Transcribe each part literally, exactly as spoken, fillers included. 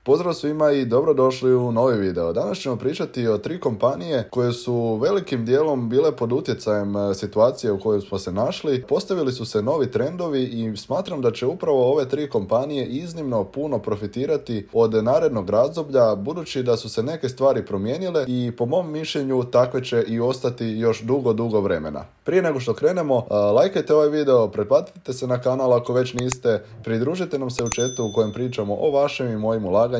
Pozdrav svima i dobrodošli u novi video. Danas ćemo pričati o tri kompanije koje su velikim dijelom bile pod utjecajem situacije u kojoj smo se našli. Postavili su se novi trendovi i smatram da će upravo ove tri kompanije iznimno puno profitirati od narednog razdoblja, budući da su se neke stvari promijenile i po mom mišljenju takve će i ostati još dugo, dugo vremena. Prije nego što krenemo, lajkajte ovaj video, pretplatite se na kanal ako već niste, pridružite nam se u chatu u kojem pričamo o vašim i mojim ulaganjima,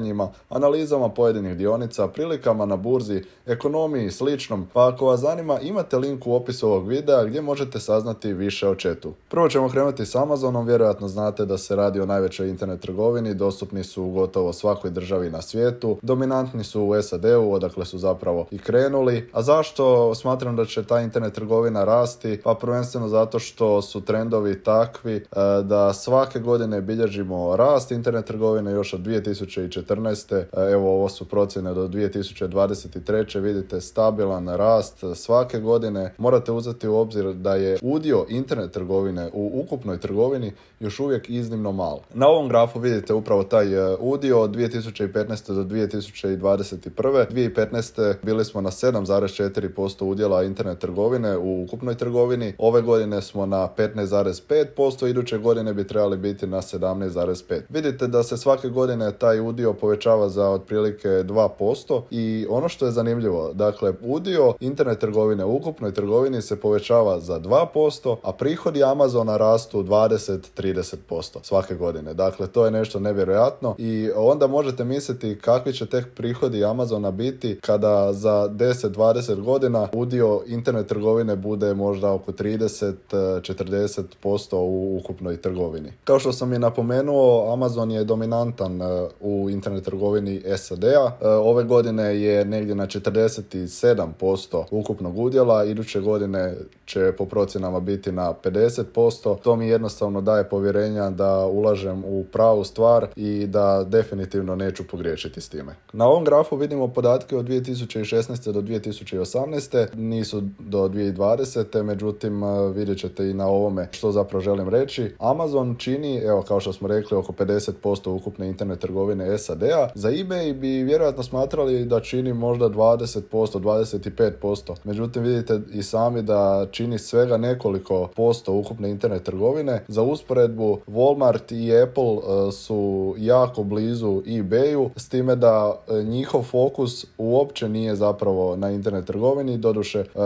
analizama pojedinih dionica, prilikama na burzi, ekonomiji i sličnom, pa ako vas zanima imate link u opisu ovog videa gdje možete saznati više o chatu. Prvo ćemo krenuti s Amazonom, vjerojatno znate da se radi o najvećoj internet trgovini, dostupni su u gotovo svakoj državi na svijetu, dominantni su u S A D-u, odakle su zapravo i krenuli. A zašto smatram da će ta internet trgovina rasti? Pa prvenstveno zato što su trendovi takvi da svake godine bilježimo rast internet trgovine još od dvije tisuće četrnaeste. Evo, ovo su procjene do dvije tisuće dvadeset treće. Vidite stabilan rast svake godine. Morate uzeti u obzir da je udio internet trgovine u ukupnoj trgovini još uvijek iznimno mal. Na ovom grafu vidite upravo taj udio od dvije tisuće petnaeste do dvije tisuće dvadeset prve. dvije tisuće petnaeste bili smo na sedam zarez četiri posto udjela internet trgovine u ukupnoj trgovini. Ove godine smo na petnaest zarez pet posto, iduće godine bi trebali biti na sedamnaest zarez pet. Vidite da se svake godine taj udio povećava za otprilike dva posto i ono što je zanimljivo, dakle udio internet trgovine u ukupnoj trgovini se povećava za dva posto, a prihodi Amazona rastu dvadeset do trideset posto svake godine. Dakle, to je nešto nevjerojatno i onda možete misliti kakvi će tek prihodi Amazona biti kada za deset do dvadeset godina udio internet trgovine bude možda oko trideset do četrdeset posto u ukupnoj trgovini. Kao što sam i napomenuo, Amazon je dominantan u internet trgovini S A D-a. Ove godine je negdje na četrdeset sedam posto ukupnog udjela, iduće godine će po procjenama biti na pedeset posto. To mi jednostavno daje povjerenja da ulažem u pravu stvar i da definitivno neću pogriješiti s time. Na ovom grafu vidimo podatke od dvije tisuće šesnaeste do dvije tisuće osamnaeste, nisu do dvije tisuće dvadesete, međutim vidjet ćete i na ovome što zapravo želim reći. Amazon čini, evo kao što smo rekli, oko pedeset posto ukupne internet trgovine S A D-a. Za eBay bi vjerojatno smatrali da čini možda dvadeset posto, dvadeset pet posto. Međutim, vidite i sami da čini svega nekoliko posto ukupne internet trgovine. Za usporedbu, Walmart i Apple uh, su jako blizu eBayu, s time da uh, njihov fokus uopće nije zapravo na internet trgovini. Doduše, uh,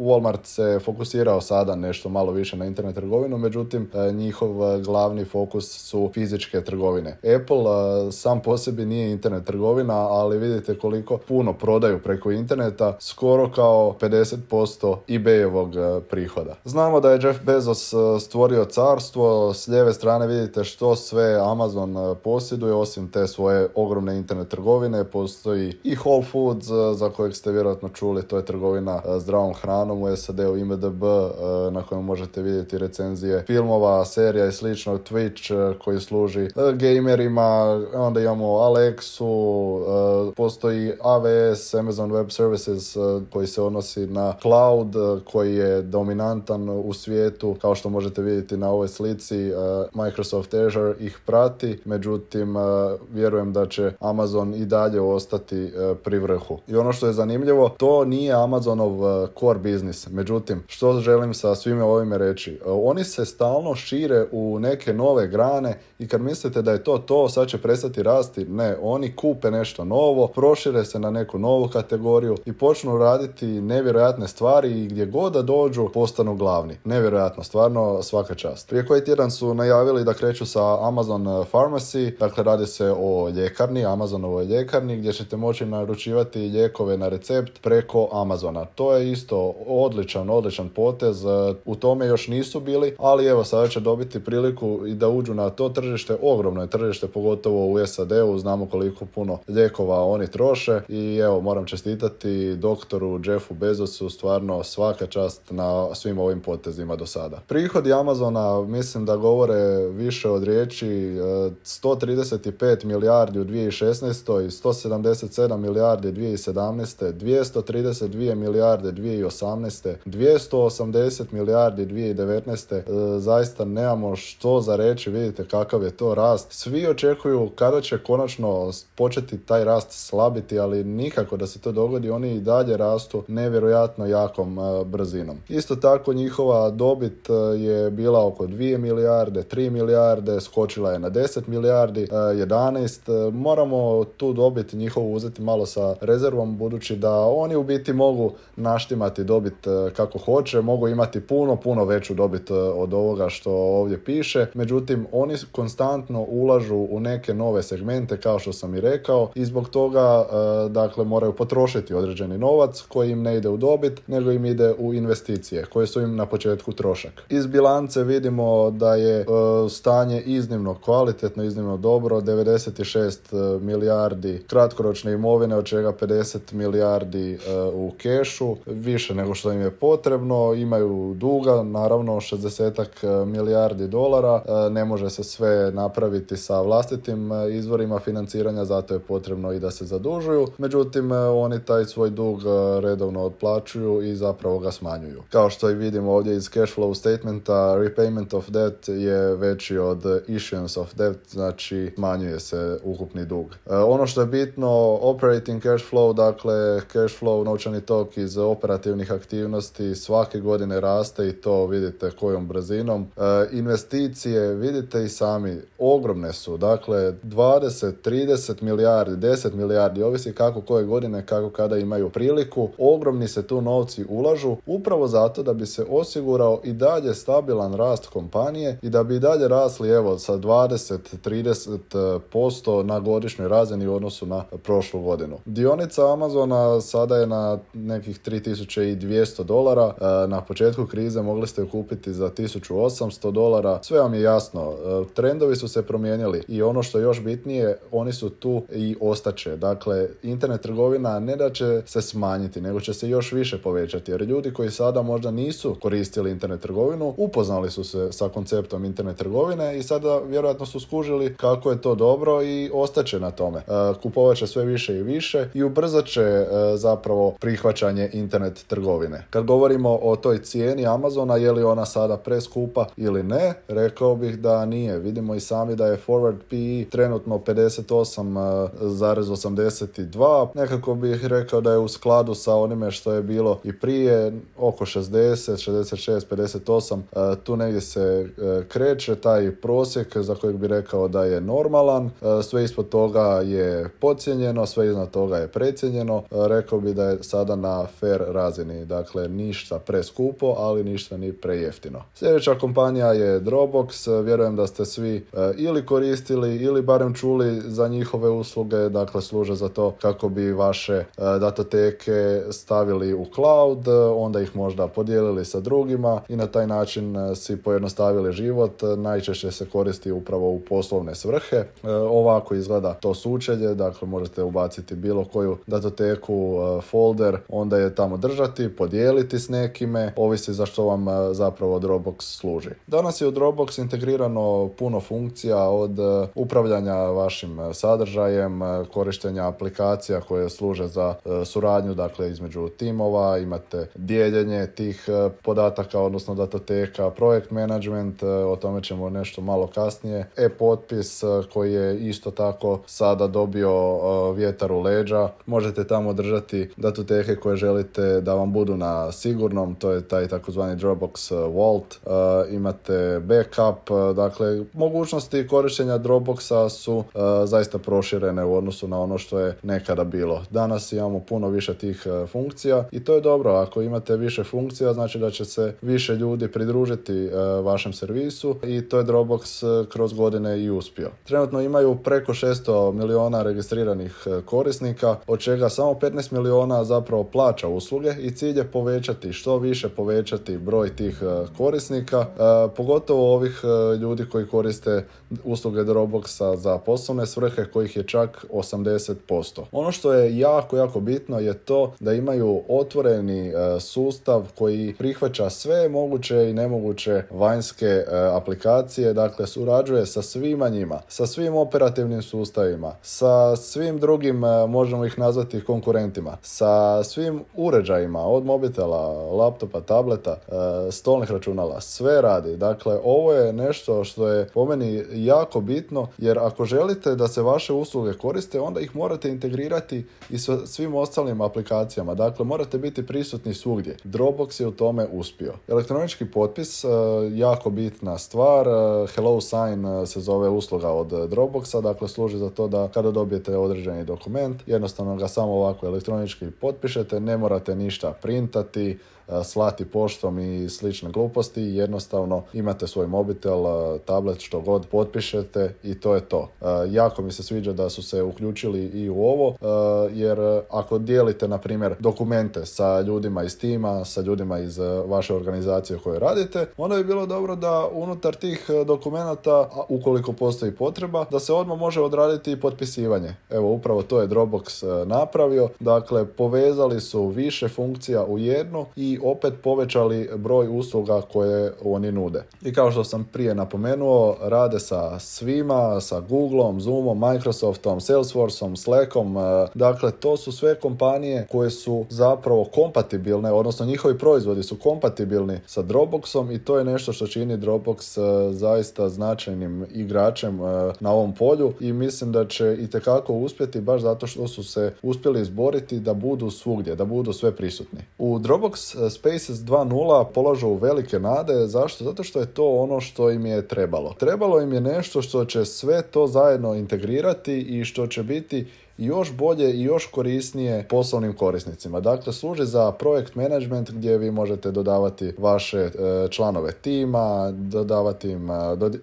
Walmart se fokusirao sada nešto malo više na internet trgovinu, međutim, uh, njihov uh, glavni fokus su fizičke trgovine. Apple uh, sam po sebi nije internet trgovina, ali vidite koliko puno prodaju preko interneta, skoro kao pedeset posto eBayevog uh, prihoda. Znamo da je Jeff Bezos uh, stvorio carstvo, s lijeve strane vidite što sve Amazon uh, posjeduje, osim te svoje ogromne internet trgovine, postoji i Whole Foods, uh, za kojeg ste vjerojatno čuli, to je trgovina uh, zdravom hranom u S A D-u, I M D B, uh, na kojem možete vidjeti recenzije filmova, serija i slično, Twitch uh, koji služi uh, gamerima, onda imamo Alexu, uh, postoji A W S, Amazon Web Services, uh, koji se odnosi na cloud, uh, koji je dominantan u svijetu, kao što možete vidjeti na ovoj slici. uh, Microsoft Azure ih prati, međutim uh, vjerujem da će Amazon i dalje ostati uh, pri vrhu. I ono što je zanimljivo, to nije Amazonov uh, core business, međutim, što želim sa svime ovime reći? Uh, oni se stalno šire u neke nove grane i kad mislite da je to to, sad će prestati rasti, ne, oni kupe nešto novo, prošire se na neku novu kategoriju i počnu raditi nevjerojatne stvari i gdje god da dođu postanu glavni. Nevjerojatno, stvarno svaka čast. Prije koji tjedan su najavili da kreću sa Amazon Pharmacy, dakle radi se o ljekarni, Amazonovoj ljekarni, gdje ćete moći naručivati lijekove na recept preko Amazona. To je isto odličan, odličan potez, u tome još nisu bili, ali evo sada će dobiti priliku i da uđu na to tržište, ogromno je tržište, pogotovo u S A D-u, znamo koliko puno lijekova oni troše i evo moram čestitati doktoru Jeffu Bezosu, stvarno svaka čast na svim ovim potezima do sada. Prihodi Amazona mislim da govore više od riječi, sto trideset pet milijardi u dvije tisuće šesnaestoj, sto sedamdeset sedam milijardi dvije tisuće sedamnaeste, dvjesto trideset dvije milijarde dvije tisuće osamnaeste, dvjesto osamdeset milijardi dvije tisuće devetnaeste. E, zaista nemamo što za reći, vidite kakav je to rast. Svi očekuju kada će konačno početi taj rast slabiti, ali nikako da se to dogodi, oni i dalje rastu nevjerojatno jakom brzinom. Isto tako njihova dobit je bila oko dvije milijarde, tri milijarde, skočila je na deset milijardi, jedanaest. Moramo tu dobit njihovu uzeti malo sa rezervom, budući da oni u biti mogu naštimati dobit kako hoće, mogu imati puno, puno veću dobit od ovoga što ovdje piše. Međutim, oni konstantno ulažu u neke nove segmente, kao što sam i rekao, i zbog toga dakle moraju potrošiti određeni novac koji im ne ide u dobit, nego im ide u investicije koje su im na početku trošak. Iz bilance vidimo da je stanje iznimno kvalitetno, iznimno dobro, devedeset šest milijardi kratkoročne imovine, od čega pedeset milijardi u kešu, više nego što im je potrebno. Imaju duga, naravno šezdeset milijardi dolara, ne može se sve napraviti sa vlastitim izvorima financiranja, zato je potrebno i da se zadužuju. Međutim, oni taj svoj dug redovno otplaćuju i zapravo ga smanjuju. Kao što i vidimo ovdje iz cash flow statementa, repayment of debt je veći od issuance of debt, znači smanjuje se ukupni dug. Ono što je bitno, operating cash flow, dakle cash flow, novčani tok iz operativnih aktivnosti svake godine raste i to vidite kojom brzinom. Investicije, vidite i sami, ogromne su, dakle dvadeset, trideset milijardi, deset milijardi, ovisi kako koje godine, kako kada imaju priliku. Ogromni se tu novci ulažu upravo zato da bi se osigurao i dalje stabilan rast kompanije i da bi i dalje rasli evo sa dvadeset do trideset posto na godišnjoj razini u odnosu na prošlu godinu. Dionica Amazona sada je na nekih tri tisuće dvjesto dolara, na početku krize mogli ste ju kupiti za tisuću osamsto dolara, sve vam je jasno, trendovi su se promijenili i ono što je još bitnije, oni su tu i ostaće. Dakle, internet trgovina ne da će se smanjiti, nego će se još više povećati, jer ljudi koji sada možda nisu koristili internet trgovinu, upoznali su se sa konceptom internet trgovine i sada vjerojatno su skužili kako je to dobro i ostaće na tome. Kupovat će sve više i više i ubrzat će zapravo prihvaćanje internet trgovine. Kad govorimo o toj cijeni Amazona, je li ona sada preskupa ili ne, rekao bih da nije. Vidimo i sami da je forward P E trenutno pedeset osam zarez osamdeset dva, nekako bih rekao da je u skladu sa onime što je bilo i prije, oko šezdeset, šezdeset šest, pedeset osam, tu negdje se kreće taj prosjek za kojeg bi rekao da je normalan, sve ispod toga je podcijenjeno, sve iznad toga je precijenjeno, rekao bi da je sada na fair razini, dakle ništa preskupo, ali ništa ni prejeftino. Sljedeća kompanija je Dropbox, vjerujem da ste svi ili koristili ili barem čuli za njihove usluge, dakle služe za to kako bi vaše datoteke stavili u cloud, onda ih možda podijelili sa drugima i na taj način si pojednostavili život. Najčešće se koristi upravo u poslovne svrhe. Ovako izgleda to sučelje, dakle možete ubaciti bilo koju datoteku, folder, onda je tamo držati, podijeliti s nekime, ovisi za što vam zapravo Dropbox služi. Danas je u Dropbox integrirano puno funkcija, od upravljanja vašim sadržajem, korištenja aplikacija koje služe za suradnju, dakle između timova, imate dijeljenje tih podataka, odnosno datoteka, projekt management, o tome ćemo nešto malo kasnije, e-potpis koji je isto tako sada dobio vjetar u leđa, možete tamo držati datoteke koje želite da vam budu na sigurnom, to je taj takozvani Dropbox Vault, imate backup, dakle mogućnosti korištenja Dropboxa su uh, zaista proširene u odnosu na ono što je nekada bilo. Danas imamo puno više tih uh, funkcija i to je dobro. Ako imate više funkcija, znači da će se više ljudi pridružiti uh, vašem servisu i to je Dropbox uh, kroz godine i uspio. Trenutno imaju preko šesto miliona registriranih uh, korisnika, od čega samo petnaest miliona zapravo plaća usluge i cilj je povećati, što više povećati broj tih uh, korisnika, uh, pogotovo ovih uh, ljudi koji koriste usluge Dropboxa za poslovne svrhe, kojih je čak osamdeset posto. Ono što je jako, jako bitno je to da imaju otvoreni e, sustav koji prihvaća sve moguće i nemoguće vanjske e, aplikacije, dakle surađuje sa svima njima, sa svim operativnim sustavima, sa svim drugim, e, možemo ih nazvati konkurentima, sa svim uređajima, od mobitela, laptopa, tableta, e, stolnih računala, sve radi. Dakle, ovo je nešto što je po meni jako bitno, jer ako želite želite da se vaše usluge koriste, onda ih morate integrirati i sa svim ostalim aplikacijama. Dakle, morate biti prisutni svugdje. Dropbox je u tome uspio. Elektronički potpis, jako bitna stvar. HelloSign se zove usluga od Dropboxa, dakle služi za to da kada dobijete određeni dokument, jednostavno ga samo ovako elektronički potpišete, ne morate ništa printati, slati poštom i slične gluposti, jednostavno imate svoj mobitel, tablet, što god potpišete i to je to. Jako mi se sviđa da su se uključili i u ovo, jer ako dijelite, na primjer, dokumente sa ljudima iz tima, sa ljudima iz vaše organizacije u kojoj radite, onda bi bilo dobro da unutar tih dokumenata, ukoliko postoji potreba, da se odmah može odraditi i potpisivanje. Evo, upravo to je Dropbox napravio. Dakle, povezali su više funkcija u jednu i opet povećali broj usluga koje oni nude. I kao što sam prije napomenuo, rade sa svima, sa Googleom, Zoomom, Microsoftom, Salesforceom, Slackom. Dakle, to su sve kompanije koje su zapravo kompatibilne, odnosno njihovi proizvodi su kompatibilni sa Dropboxom i to je nešto što čini Dropbox zaista značajnim igračem na ovom polju i mislim da će itekako uspjeti baš zato što su se uspjeli izboriti da budu svugdje, da budu sve prisutni. U Dropbox Spaces dva nula polažu velike nade. Zašto? Zato što je to ono što im je trebalo. Trebalo im je nešto što će sve to zajedno integrirati i što će biti još bolje i još korisnije poslovnim korisnicima. Dakle, služi za projekt management gdje vi možete dodavati vaše e, članove tima, dodavati im,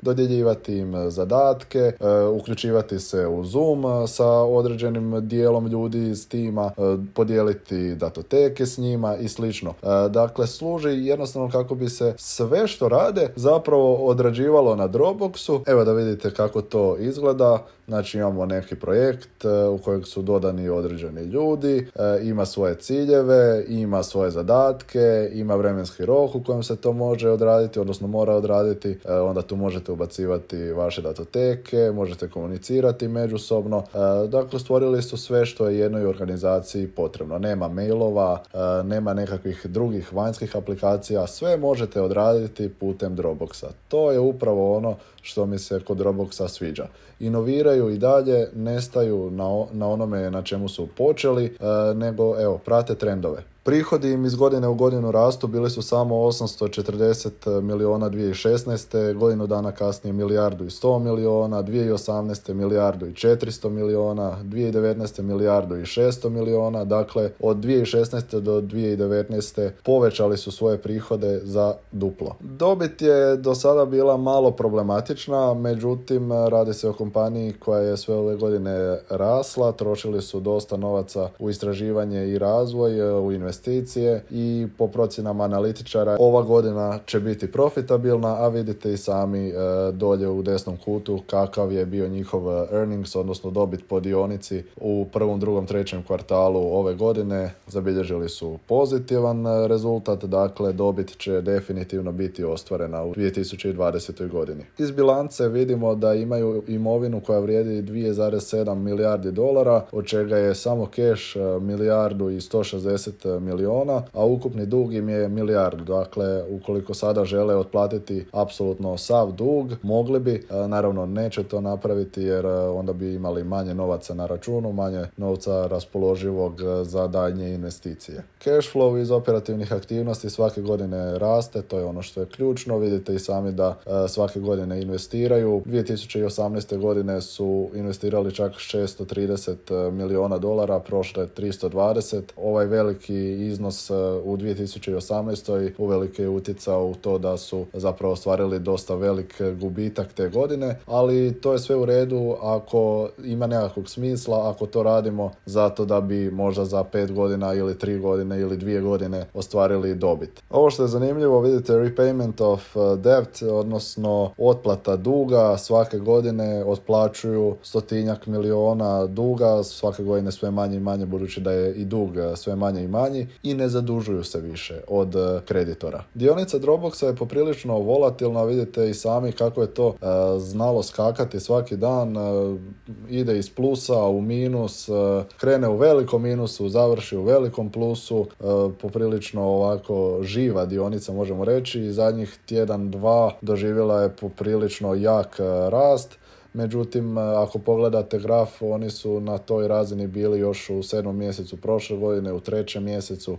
dodjeljivati im zadatke, e, uključivati se u Zoom sa određenim dijelom ljudi iz tima, e, podijeliti datoteke s njima i slično. E, dakle, služi jednostavno kako bi se sve što rade zapravo odrađivalo na Dropboxu. Evo da vidite kako to izgleda. Znači, imamo neki projekt u kojeg su dodani određeni ljudi, ima svoje ciljeve, ima svoje zadatke, ima vremenski rok u kojem se to može odraditi, odnosno mora odraditi, onda tu možete ubacivati vaše datoteke, možete komunicirati međusobno. Dakle, stvorili su sve što je jednoj organizaciji potrebno. Nema mailova, nema nekakvih drugih vanjskih aplikacija, sve možete odraditi putem Dropboxa. To je upravo ono što mi se kod Dropboxa sviđa. Inoviraju i dalje, nestaju na, na onome na čemu su počeli, e, nego evo, prate trendove. Prihodi im iz godine u godinu rastu, bili su samo osamsto četrdeset milijuna dvije tisuće šesnaeste. Godinu dana kasnije milijardu i sto milijuna, dvije tisuće osamnaeste milijardu i četiristo milijuna, dvije tisuće devetnaeste milijardu i šesto milijuna. Dakle, od dvije tisuće šesnaeste do dvije tisuće devetnaeste povećali su svoje prihode za duplo. Dobit je do sada bila malo problematična, međutim, radi se o kompaniji koja je sve ove godine rasla, trošili su dosta novaca u istraživanje i razvoj, u investicije investicije i po procjenama analitičara ova godina će biti profitabilna, a vidite i sami e, dolje u desnom kutu kakav je bio njihov earnings, odnosno dobit po dionici u prvom, drugom, trećem kvartalu ove godine. Zabilježili su pozitivan rezultat, dakle dobit će definitivno biti ostvarena u dvije tisuće dvadesetoj godini. Iz bilance vidimo da imaju imovinu koja vrijedi dvije zarez sedam milijardi dolara, od čega je samo keš milijardu i sto šezdeset miliona, a ukupni dug im je milijardu. Dakle, ukoliko sada žele otplatiti apsolutno sav dug, mogli bi, naravno neće to napraviti jer onda bi imali manje novaca na računu, manje novca raspoloživog za daljnje investicije. Cash flow iz operativnih aktivnosti svake godine raste, to je ono što je ključno. Vidite i sami da svake godine investiraju. dvije tisuće osamnaeste godine su investirali čak šesto trideset miliona dolara, prošle tristo dvadeset. Ovaj veliki iznos u dvije tisuće osamnaestoj uvelike je utjecao u to da su zapravo ostvarili dosta velik gubitak te godine, ali to je sve u redu ako ima nekakvog smisla, ako to radimo zato da bi možda za pet godina ili tri godine ili dvije godine ostvarili dobit. Ovo što je zanimljivo, vidite repayment of debt, odnosno otplata duga, svake godine otplaćuju stotinjak miliona duga, svake godine sve manje i manje, budući da je i dug sve manje i manji, i ne zadužuju se više od kreditora. Dionica Dropboxa je poprilično volatilna, vidite i sami kako je to uh, znalo skakati svaki dan, uh, ide iz plusa u minus, uh, krene u velikom minusu, završi u velikom plusu, uh, poprilično ovako živa dionica možemo reći, i zadnjih tjedan, dva doživjela je poprilično jak uh, rast. međutim ako pogledate graf, oni su na toj razini bili još u sedmom mjesecu prošle godine, u trećem mjesecu,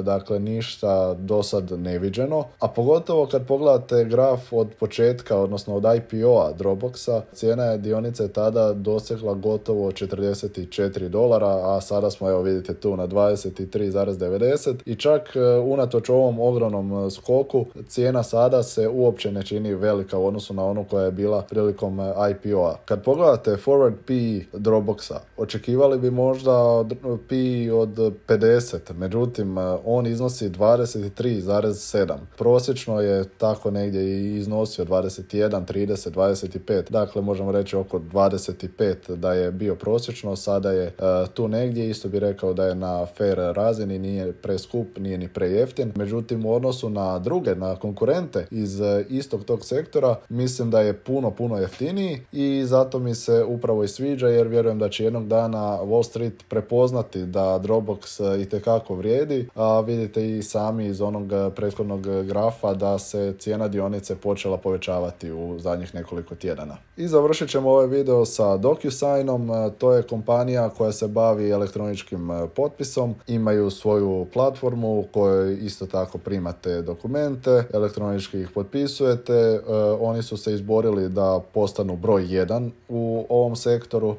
dakle ništa do sad neviđeno, a pogotovo kad pogledate graf od početka, odnosno od I P O-a Dropboxa, cijena je dionice tada dosegla gotovo četrdeset četiri dolara, a sada smo, evo vidite tu, na dvadeset tri zarez devedeset i čak unatoč ovom ogromnom skoku cijena sada se uopće ne čini velika u odnosu na onu koja je bila prilikom I P O-a. Kad pogledate forward P E Dropboxa, očekivali bi možda P E od pedeset, međutim on iznosi dvadeset tri zarez sedam. Prosječno je tako negdje i iznosio dvadeset jedan, trideset, dvadeset pet, dakle možemo reći oko dvadeset pet da je bio prosječno, sada je uh, tu negdje, isto bi rekao da je na fair razini, nije preskup, nije ni prejeftin, međutim u odnosu na druge, na konkurente iz uh, istog tog sektora, mislim da je puno, puno jeftiniji i zato mi se upravo i sviđa, jer vjerujem da će jednog dana Wall Street prepoznati da Dropbox uh, itekako vrijedi, a vidite i sami iz onog uh, prethodnog grafa da se cijena dionice počela povećavati u zadnjih nekoliko tjedana. I završit ćemo ovaj video sa DocuSignom. To je kompanija koja se bavi elektroničkim potpisom. Imaju svoju platformu u kojoj isto tako primate dokumente, elektronički ih potpisujete. Oni su se izborili da postanu broj jedan u ovom sektoru.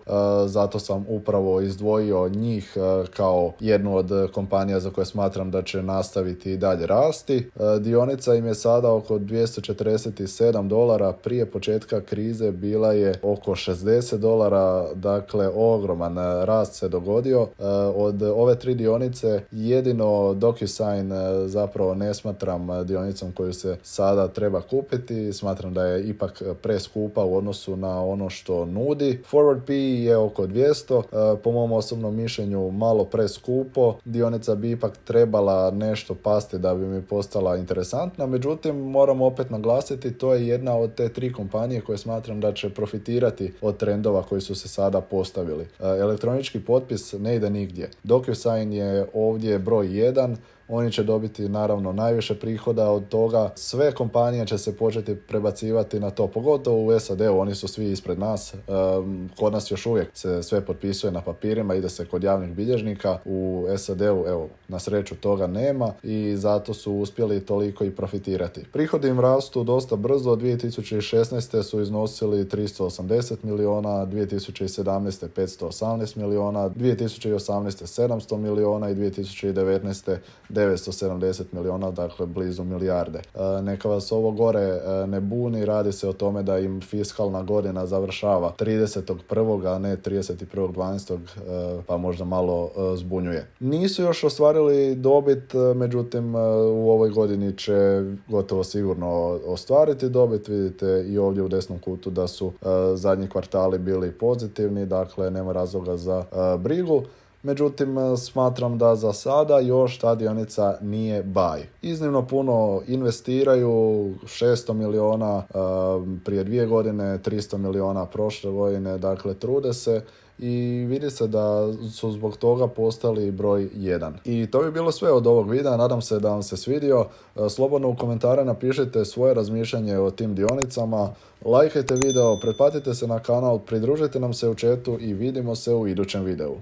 Zato sam upravo izdvojio njih kao jednu od kompanija za koje smatram da će nastaviti i dalje rasti. Dionica im je sada oko dvjesto četrdeset sedam dolara, prije početka krize bila je oko šezdeset dolara, dakle ogroman rast se dogodio. Od ove tri dionice jedino DocuSign zapravo ne smatram dionicom koju se sada treba kupiti, smatram da je ipak preskupa u odnosu na ono što nudi. Forward P E je oko dvjesto, po mom osobnom mišljenju malo preskupo, dionica bi ipak trebala nešto pasti da bi mi postala interesantna, međutim moramo opet naglasiti, to je jedna od te tri kompanije koje smatram da će profitirati od trendova koji su se sada postavili. Elektronički potpis ne ide nigdje. DocuSign je ovdje broj jedan, oni će dobiti naravno najviše prihoda od toga, sve kompanije će se početi prebacivati na to, pogotovo u S A D-u, oni su svi ispred nas, kod nas još uvijek se sve potpisuje na papirima, ide se kod javnih bilježnika, u S A D-u evo na sreću toga nema i zato su uspjeli toliko i profitirati. Prihodi im rastu dosta brzo, dvije tisuće šesnaeste su iznosili tristo osamdeset miliona, dvije tisuće sedamnaeste petsto osamnaest miliona, dvije tisuće osamnaeste sedamsto miliona i dvije tisuće devetnaeste devetsto sedamdeset miliona, dakle blizu milijarde. E, neka vas ovo gore e, ne buni, radi se o tome da im fiskalna godina završava tridesetog prvog a ne trideset prvog dvanaestog E, pa možda malo e, zbunjuje. Nisu još ostvarili dobit, e, međutim e, u ovoj godini će gotovo sigurno ostvariti dobit. Vidite i ovdje u desnom kutu da su e, zadnji kvartali bili pozitivni, dakle nema razloga za e, brigu. Međutim, smatram da za sada još ta dionica nije buy. Iznimno puno investiraju, šesto miliona prije dvije godine, tristo miliona prošle godine, dakle trude se i vidi se da su zbog toga postali broj jedan. I to bi bilo sve od ovog videa, nadam se da vam se svidio. Slobodno u komentare napišite svoje razmišljanje o tim dionicama, lajkajte video, pretplatite se na kanal, pridružite nam se u chatu i vidimo se u idućem videu.